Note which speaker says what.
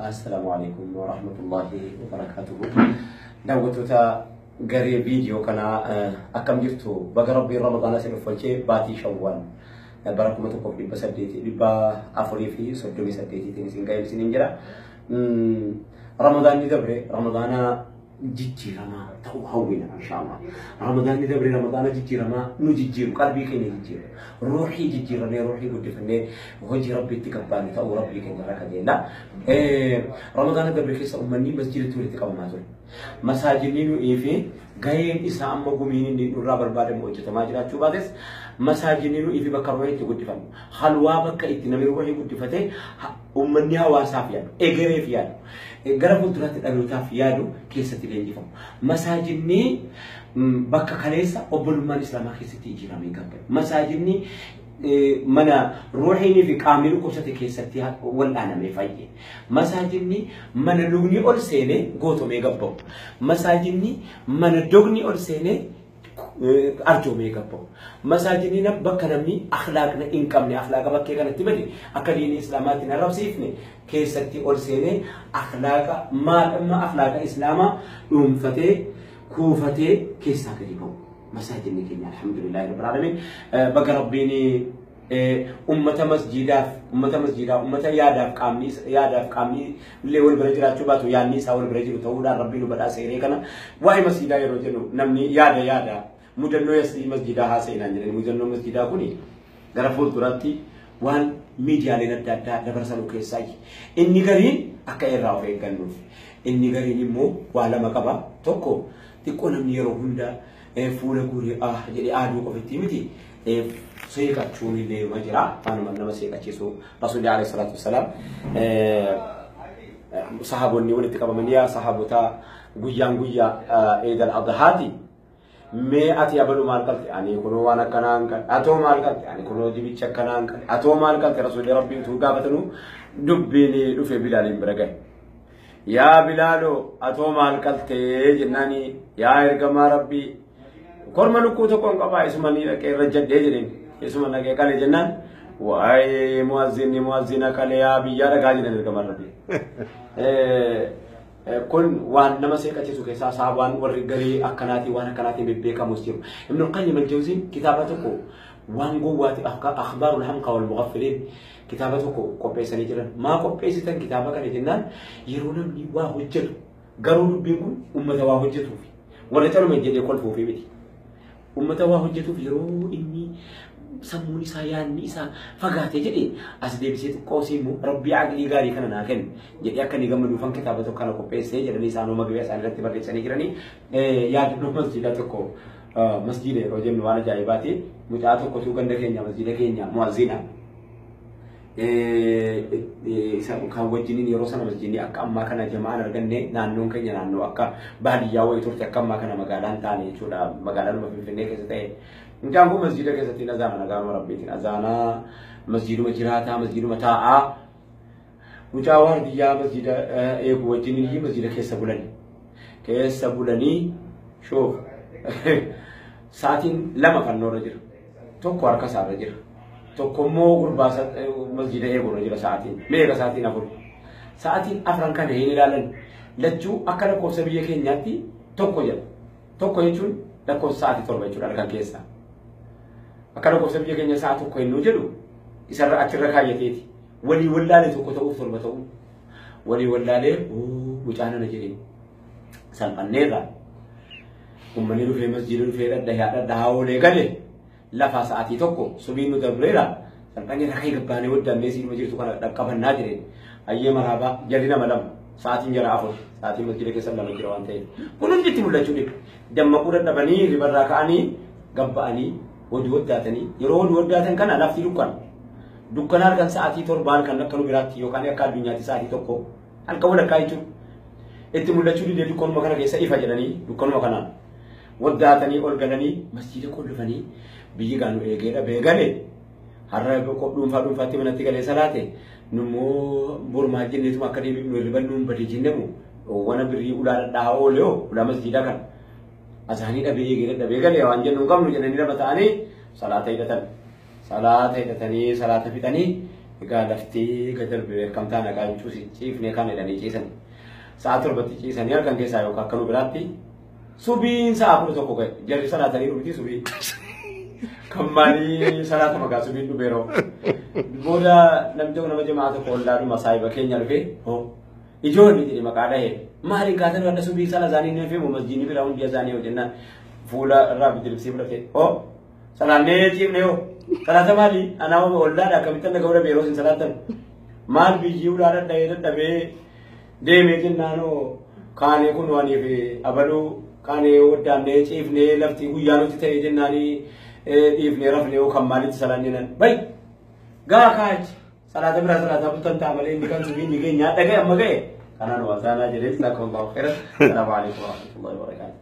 Speaker 1: Assalaamu alaikum wa rahmatullahi wa barakaatuhu. Daawwattoota garee viidiyoo kanaa, akkam jirtu? Baga Rabbiin Ramadaana isin uffalchee baatii Shawwaal bara 1438-iitiin isin ga'e isiniin jira. Ramadaanni dabre Ramadaana jijjiiramaa ta'uu hawwina inshaallah. Ramadaanni dabre Ramadaana jijjiiramaa nu jijjiiru, qalbii keenya jijjiiru, ruuxii jijjiirannee, ruuxii guddifannee hojii Rabbiitti gabbaanu ta'uu Rabbii keenya irraa kajeella. Ramadaana dabre keessa uummanni masjiidatti walitti qabamaa ture. Masaajidni nu'ii fi gaheen isaa amma gumiin inni nurraa barbaadamu hojjetamaa jiraachuu baates, masaajidni nu'ii fi bakka ruuxii itti guddifamu. Halwaa bakka itti namni ruuxii guddifatee uummanni hawaasaaf yaadu, egereef yaadu, gara fuulduraatti dhalootaaf yaadu keessatti leenjifamu. Masaajidni bakka kaleessa obbolummaan Islaamaa keessatti ijaaramee gabbatu. Masaajidni mana ruuxiinii fi qaamni dhukkubsate keessatti wal'aanamee fayye. Masaajidni mana lubni ol seenee gootomee gabba'u. Masaajidni mana dogni ol seenee arjoomee gabba'u. Masaajidni bakka namni akhlaaqna hin qabne, akhlaaqa bakkee kanatti bade, akka diinii Islaamaatti hin arrabsiifne keessatti ol seenee akhlaaqa maal akhlaaqa Islaamaa dhuunfatee kuufatee keessaa gadi ba'u. Masaajidni keenya, alhamdulillahi rabbil alamin, baga Rabbiin ummata masjiidaaf, ummata masjiidaa, ummata yaadaaf qaamni, yaadaaf qaamni illee wal bira jiraachuu baatu yaadni isaa wal bira jiru ta'uudhaan Rabbiin nu badhaasa hiree kana. Waa'ee masjiidaa yeroo jennu namni yaada yaada mudannoo masjiidaa haasa'inaan jedhani. Mudannoo masjiidaa kuni gara fuulduraatti waan miidiyaaleen adda addaa dabarsanu keessaa inni gariin akka irraa of eeggannuuf, inni gariin immoo waa lama qaba. Tokko, xiqqoo namni yeroo hunda fuula guuree ah jedhee aaduu qofitti miti, seeqachuun illee ma jira. Waanuma nama seeqachiisu, Rasuulli alayhi salaatu wassalaam sahaabonni walitti qabamanii, "Yaa sahaabota, guyyaan guyyaa Eidal Adhaati. Mee ati abalu maal qalte? Ani kunoo waan akkanaa hin qalte. Atoo maal qalte? Ani kunoo dibicha akkanaa hin qalte. Atoo maal qalte?" Rasuulli Rabbii utuu gaafatanu dubbiin dhufe Bilaaliin bira gahe. "Yaa Bilaaloo, atoo maal qaltee?" jennaani, "Yaa ergamaa Rabbii, korma lukkuu tokko hin qabaa, isuma ni dhaqee irra jadhee," jedheen. "Isuma dhaqee qale," jennaan, "Waa'ee mu'azzinni mu'azzina qale, yaa biyyaa dhagaa," jedhan ergamaan Rabbii. Kun waan nama seeqachiisu keessaa sahabaan warri garee akkanaatiin waan akkanaatiin bebbeekamus jiru. Ibn Qayyim al-Jawziin kitaaba tokko waan gowwaati, Akhbaarul Hamqa wal Mughaffiliin, kitaaba tokko qopheessanii jiran. Maa qopheessitan kitaaba kana jennaan, yeroo namni waa hojjetu, garuu dubbiin kun ummata waa hojjetuufi warra caluma jedhee kolfuufi miti. Ummata waa hojjetuuf yeroo inni sammuun isaa, yaadni isaa fagaate jedhee as deebisee xiqqoo immoo Rabbii aqlii gaarii kana naa kennu jedhee akka inni gammaduufan kitaaba tokko kana qopheessee jedhanii isaanoo magabee isaanii irratti barreessanii jiranii. Yaadannoo masjiida tokko, masjiida yeroo jennu waan ajaa'ibaati. Mucaa tokkotu ganda keenya masjiida keenya mu'azzina. Kan wajjiniin yeroo sana masjiidni akka ammaa kana jama'aan arganne, naannoon keenya naannoo akka baadiyyaa wayii turte, akka ammaa kana magaalaan taane jechuudha, magaalaan Finfinnee keessa ta'e. Mucaan kun masjiida keessatti azaana, nagaanuma Rabbiitiin azaanaa, masjiiduma jiraataa, masjiiduma taa'aa. Mucaa waardiyyaa masjiida eegu wajjiniin masjiida keessa bulani. Keessa bulanii shoof sa'aatiin lama fannoorra jira. Tokko harka isaarra jira. Tokko immoo gurbaa masjiida eegurra jira sa'aatiin. Meeqa? Sa'aatiin 4. Sa'aatiin afran kana hin ilaalan. Lachuu akka lakkoofsa biyya keenyaatti tokko jedha. Tokko jechuun lakkoofsa sa'aatii 7 jechuudha halkan keessaa. Akka lakkoofsa biyya keenya sa'a 1 hennuu jedhu isarra achirra kaayyateeti. Walii wallaalee tokko ta'uuf 7 ta'uu. Walii wallaalee mucaa nana jedhee salphanneerra. Uummanni dhufee masjiida dhufee dhadhayaa dhadhahaa oolee gale, lafaa sa'aatii 1 subiin nu dabreera, salphanneerra, ka'ee gabbaanee waddannee siinuma jirtu kana dhaqqabannaa jedheen. Hayyee maraabaa, jarri nama lama, sa'aatiin jara 4, sa'aatiin masjiida keessa lama jira waan ta'eef. Kun hundi itti mul'achuu dhibe. Dammaquu dadhabanii ribarraa ka'anii gabba'anii wadii waddaatanii, yeroo wadii waddaatan kana lafti dukkana. Dukkana halkan sa'aatii 7 halkan akka nu biraatti yookaan akka addunyaatti sa'aatii 1 halkan walakkaa jechuudha. Itti mul'achuu didee dukkanuma kana keessa ifa jedhanii dukkanuma kanaan waddaatanii ol galanii masjiida qollofanii, biyyi gaanu eegee dhabee gale, har'a dhuunfaa dhuunfaatti manatti galee salaate, nummoo bormaa jenneetuma akka deebi'nu hirriban nuun bade jennemu wana birrii ulaa dhadhaa oole hoo ulaa masjiida kana asaanii dhabee eegee dadhabee galee waan jennu hin qabnu jedhanii lama ta'anii salaata hidhatan. Salaata hidhatanii salaata fixanii Egaa lafti gad darbe beekamtaa nagaa cuusi ciifnee kan jedhanii ciisan. Sa'a 7tti ciisanii halkan keessaa yookaan akka nu biraatti subiin sa'a 11 ga'e. Jarri salaatanii dhufti subii. Kan maalii salaata maqaa subiin dhufeeroo. Booda namni tokko nama jamaa tokko ollaadhuma saahiba keenya dhufee, hoo ijoolli jedhe maqaa dhahee, maaliin kaatan wadda subii sana isaanii ni fe'u masjiidni biraa hundi isaanii yoo jennaan, fuula irraa bidiribsii fudhate, hoo salaannee ciifne, hoo salaata maali, anaa ollaadha akkamitti akka ga'u yeroo isin salaattan, maal biyyi ulaa dadhabee dadhabee deemee jennaanoo kaanee kun waaniif abaluu kaanee waddaannee ciifnee lafti guyyaa nuti ta'e jennaanii dhiifnee rafnee, hoo kan maalitti salaan jennaan, bay gaa kaachi salaata biraa salaataa bultan ta'a malee inni kan subii inni keenya dhaga'e amma ga'e kanaan wasaanaa jedhee. Jazakumullahu khairan. Salaamu alaikum warahmatullahi wabarakatuh.